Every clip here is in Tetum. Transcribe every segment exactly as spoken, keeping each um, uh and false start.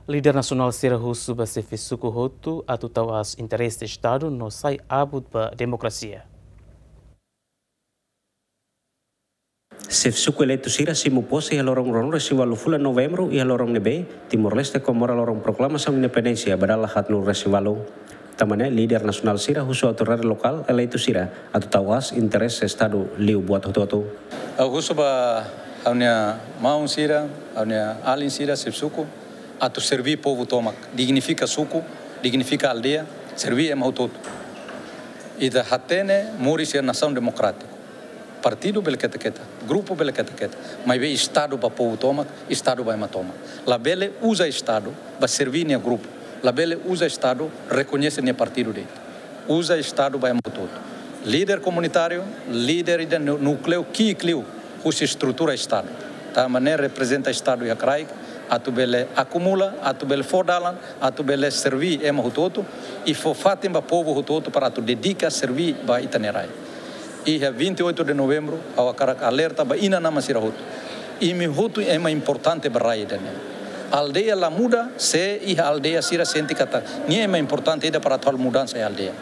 Líder nasionál sira husu ba xefe suku hotu atu tau aas interese Estadu no sai abut ba demokrasia. Xefe suku eleitu sira simu pose iha loron ruanulu-resin-ualu fulan Novembru iha loron ne'ebé Timor-Leste komemora loron proklamasaun independénsia ba dala haatnulu-resin-ualu. Tanba ne'e líder nasionál sira husu autoridade lokál eleitu sira atu tau aas interese Estadu liu buat hotu-hotu. Ha'u husu ba ha'u-nia maun sira, ha'u-nia alin sira xefe suku, atu serví povu tomak, dignifika suku, dignifika aldeia, serví ema hotu-hotu. Ita hatene moris iha nasaun demokrátiku. Partidu bele keta-keta, grupu bele keta-keta, maibé Estadu ba povu tomak, Estadu ba ema tomak. Labele uza Estadu ba serví nia grupu, labele uza Estadu rekoñese nia partidu de'it. Uza Estadu ba ema hotu-hotu. Líder komunitáriu, líder ida nu-, núkleu ki'ik liu husi estrutura Estadu. Tanba ne'e reprezenta Estadu iha kraik, atu bele akumula, atu bele fó dalan, atu bele serví ema hotu-hotu, i fó fatin ba povu hotu-hotu para atu dedika serví ba ita-nia rai. Iha vinte e oito de Novembru, ha'u hakarak alerta ba inan-aman sira hotu. Imi hotu ema importante ba rai ida-ne'e. Aldeia la muda se iha aldeia sira sente katak nia ema importante ida para atu halo mudansa iha aldeia.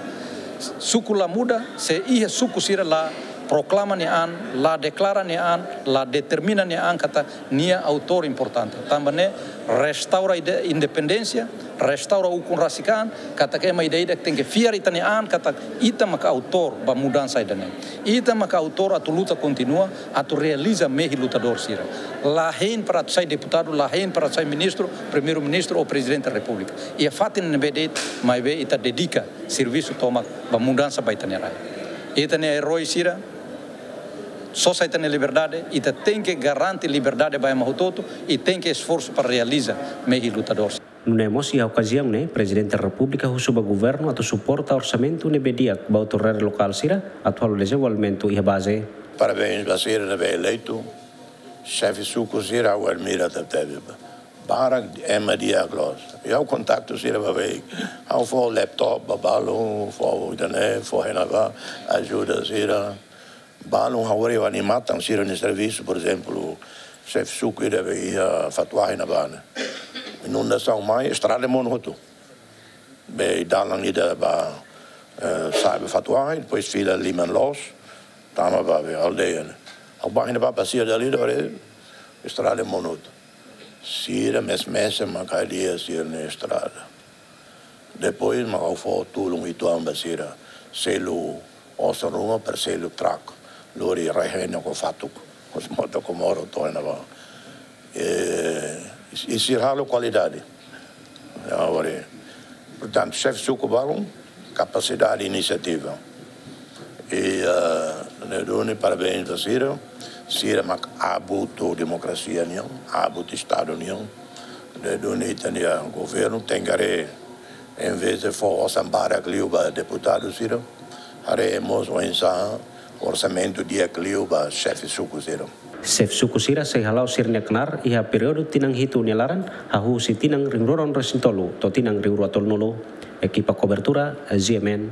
Suku la muda se iha suku sira la proklama nia an, la deklara nia an, la determina nia an katak nia autór importante. Tanba ne'e restaura ide-, independénsia, restaura ukun rasik an, katak ema ida-idak tenke fiar ita-nia an, katak ita maka autór ba mudansa ida-ne'e. Ita maka autór atu luta kontinua, atu realiza mehi lutadór sira. La hein para atu sai deputadu, la hein para atu sai ministru, primeiru-ministru ou prezidente da repúblika. Iha fatin ne'ebé de'it, maibé ita dedika servisu tomak ba mudansa ba ita-nia rai. Ita-nia erói sira, sosa ita-nia liberdade, ita tenke garante liberdade ba ema hotu-hotu, i tenke esforsu para realiza mehi lutadór. Nune'e mós iha okaziaun ne'e, Prezidente Repúblika husu ba governu atu suporta orsamentu ne'ebé di'ak ba autoridade lokál sira atu halo dezenvolvimentu iha baze. Parabéns ba sira ne'ebé eleitu, xefe suku sira ha'u admira tebetebes. Barak ema di'ak loos. Ha'u kontaktu sira ba baik. Ha'u fó laptop ba balu, fó ida-ne'e, fó hena ba, ajuda sira. Balun ha'u haree ba nia matan sira-nia servisu, por ezemplu, xefe suku ida be iha Fatuahi ne'ebá ne'e. Inundasaun mai, estrada monu hotu. Be dalan ida ba, eh, sa'e ba Fatuahi, depois fila liman loos, tama ba be aldeia ne'e. Ha'u bá iha ba, ba sira dala ida, haree estrada monu hotu. Sira mesak-mesak mak hadi'a sira-nia estrada. Depois mak ha'u fó tulun uitoan ba sira, selu osan ruma para selu trak, lori rai-hein ho fatuk, ho mota Comoro to'o iha ne'ebá. E, i sira halo kualidade. Agora, portantu, xefe suku balun, kapasidade, inisiativa. I, eh, ne'e duni parabéns ba sira, sira mak abut demokrasia nian, abut Estadu nian. Ne'e duni ita-nia governu tenke haree, em vez de fó osan barak liu ba deputadu sira, haree mós oinsá orsamentu di'ak liu ba xefe suku sira. Xefe suku sira sei hala'o sira-nia knaar iha períodu tinan hitu nia laran, hahú husi tinan rihun rua ruanulu-resin-tolu to'o tinan rihun rua tolunulu. Ekipa kobertura, G M N.